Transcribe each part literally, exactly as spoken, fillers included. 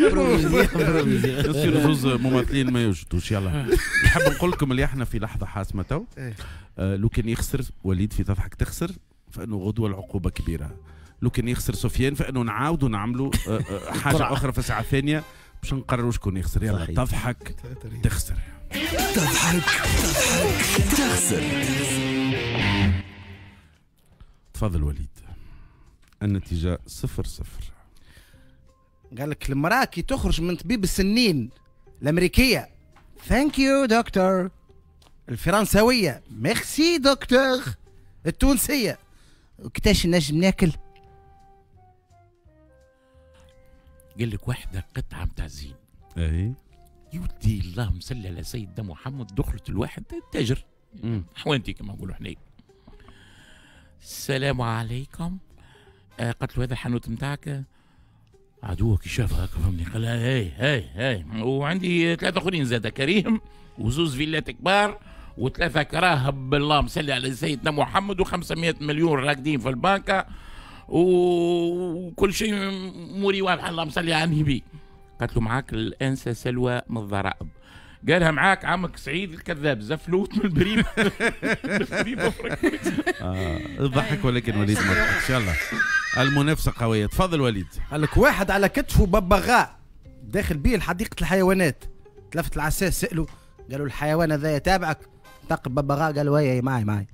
يصيروا زوز ممثلين ما يوجدوش. يلا نحب نقول لكم اللي احنا في لحظة حاسمة تو. آه لو كان يخسر وليد في تضحك تخسر فانه غدوه العقوبة كبيرة. لو كان يخسر سفيان فانه نعاودوا نعملوا حاجة اخرى في الساعة الثانية باش نقرروا شكون يخسر. يلا تضحك تخسر. تضحك تضحك تخسر. تفضل وليد. النتيجة صفر صفر. قال لك المرأة كي تخرج من طبيب السنين الأمريكية thank you doctor، الفرنسوية merci docteur، التونسية كتاش نجم ناكل. قال لك واحدة قطعة متاع زين. اي يودي اللهم صل على سيدنا محمد. دخلت الواحد تاجر حوانتي كما نقولوا حنا. السلام عليكم. آه قالت له هذا الحانوت نتاعك؟ عدوه كي شافها هكا فهمني قال لها هاي هاي هاي وعندي ثلاثة اخرين زاد كريم وزوز فيلات كبار وثلاثة كراهب بالله مسلي على سيدنا محمد وخمسمائة مليون راكدين في البنكة وكل شيء موري واضح الله مسلي على النبي. قالت له معاك الانسة سلوى من الضرائب. قالها معاك عمك سعيد الكذاب زفلوت من البريمه. ضحك ولكن وليد ما ضحكش. يلا المنافسة قوية. تفضل وليد. قال لك واحد على كتفه ببغاء داخل بيه لحديقه الحيوانات. تلفت العساس سأله قالوا الحيوان هذا يتابعك؟ نطق الببغاء قال وي معي معي.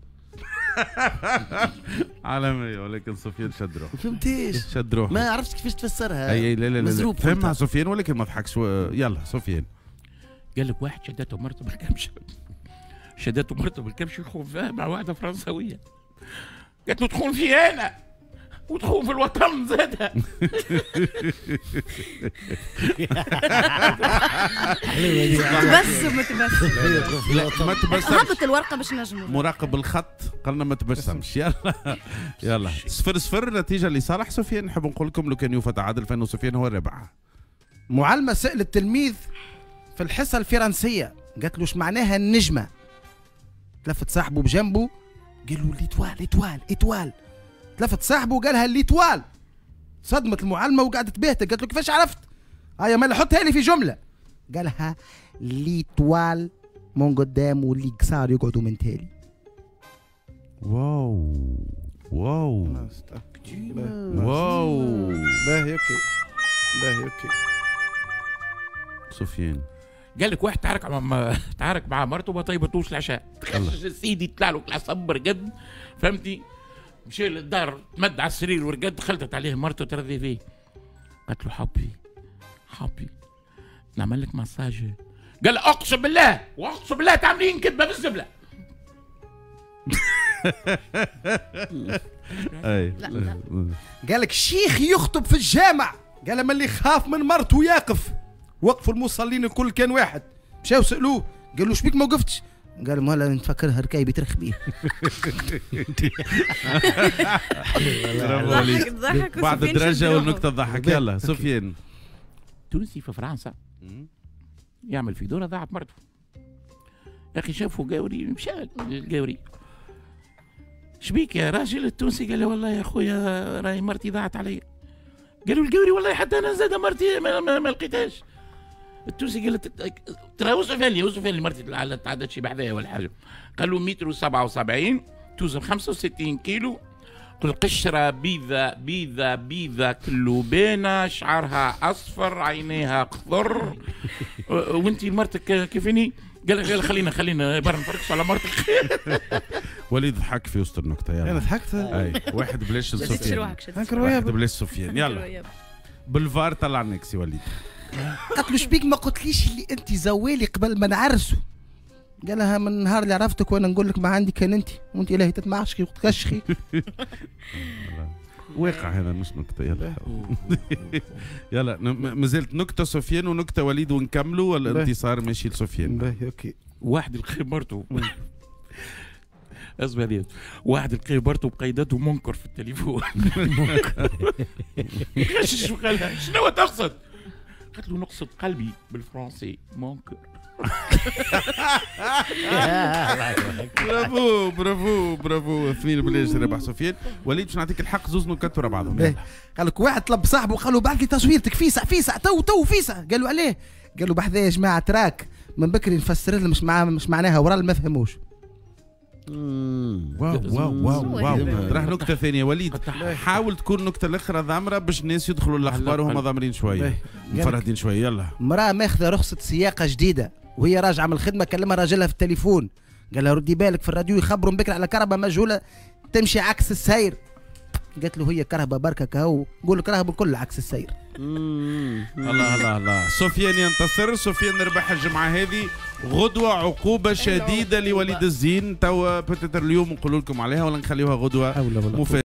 عالمية ولكن سفيان شد روحه. فهمتيش؟ شد روحه ما عرفتش كيفاش تفسرها. اي لا لا لا فهمها سفيان ولكن ما ضحكش. يلا سفيان. قال لك واحد شدته مرته بالكبش. شدته مرته بالكبش يخون فيها مع واحدة فرنسويه. قالت له تخون في انا وتخون في الوطن زادها. تبسم تبسم. لا ما تبسمش. هبط الورقة باش نجموا. مراقب الخط قالنا ما تبسمش. يلا يلا صفر صفر نتيجة لصالح سفيان. نحب نقول لكم لو كان يوفى تعادل فانه سفيان هو الرابح. معلمه سأل التلميذ في الحصة الفرنسية قالت له اش معناها النجمة؟ تلفت صاحبه بجنبه قال له l'étoile étoile étoile. تلفت صاحبه وقالها l'étoile. صدمت المعلمة وقعدت باهتة قالت له كيفاش عرفت؟ هيا ما حطها لي في جملة. قالها l'étoile من قدام واللي قصار يقعدوا من تالي. واو واو واو. باهي OK باهي OK. سفيان. قال لك واحد تعارك مع تعارك مع مرته وما طيبتوش العشاء. تخش سيدي طلع له العصب رقد فهمتي. مشى للدار تمد على السرير ورقد. خلطت عليه مرته ترضي فيه. قالت له حبي حبي نعمل لك مساج. قال اقسم بالله واقسم بالله تعملين كذبه بالزبله. اي لا. قال لك الشيخ يخطب في الجامع قال من اللي خاف من مرته يقف. وقفوا المصلين الكل كان واحد. مشاو سالوه قالوا شبيك ما وقفتش؟ قال ما نفكرها ركايبي ترخ بيه. برافو عليك. بعد الدرجة والنكته تضحك. يلا سفيان. تونسي في فرنسا يعمل في دوره ضاعت مرته. يا اخي شافوا قاوري مشى للقاوري. شبيك يا راجل؟ التونسي قال له والله يا خويا راهي مرتي ضاعت علي. قالوا القاوري والله حتى انا زاد مرتي ما, ما, ما لقيتهاش. التونسي قال ترى وصفها لي وصفها لي مرتي تعدت شي بحذايا ولا حاجة. قال له متر وسبعة وسبعين توزن خمسة وستين كيلو القشرة بيضة بيضة بيضة كلوبانه شعرها اصفر عينيها خضر. وانت مرتك كيفني؟ قال قال خلينا خلينا برا نفركش على مرتك. وليد ضحك في وسط النكتة. يلا انا ضحكت. اي واحد بلاش سفيان. واحد بلاش سفيان. يلا بالفار طلع نكسي وليد. قالت له شبيك ما قلتليش اللي انت زوالي قبل ما نعرسوا؟ قالها من النهار اللي عرفتك وانا نقول لك ما عندي كان انت وانت الهي تتمعشقي وتكشخي. واقع هذا مش نكتة. يلا يلا مازالت نكتة سفيان ونكته وليد ونكملوا ولا الانتصار ماشي لسفيان؟ باهي OK. واحد لقي مرته اصبر واحد لقي مرته بقيدته منكر في التليفون. غشش وقالها شنو تقصد؟ قالت له نقصد قلبي بالفرنسي mon cœur. bravo bravo bravo، اثنين بلاش ربح سفيان. وليد باش نعطيك الحق، زوز نكت ورا بعضهم. قال لك واحد طلب صاحبه قال له بعث لي تصويرتك فيسع فيسع تو تو فيسع. قال له عليه؟ قال له بحذا يا جماعة trac من بكري نفسر لهم مش مع مش معناها ورا ما فهموش. واو واو واو واو. راح نكتة ثانية وليد، حاول تكون نكتة الاخرى ضامره باش الناس يدخلوا الاخبار وهم ضامرين شوية مفرهدين شوية. يلا. مراة ماخذه رخصه سياقه جديدة وهي راجعه من الخدمة، كلمها راجلها في التليفون قال لها ردي بالك في الراديو يخبروا من بكري على كرهبه مجهولة تمشي عكس السير. قالت له هي كرهبه بركة كهو، قول كرهبه الكل عكس السير. الله الله الله. سفيان ينتصر، سفيان ربح الجمعة هذه. غدوه عقوبه شديدة لوليد الزين، توا peut-être اليوم نقول لكم عليها ولا نخليوها غدوه مفاجاة.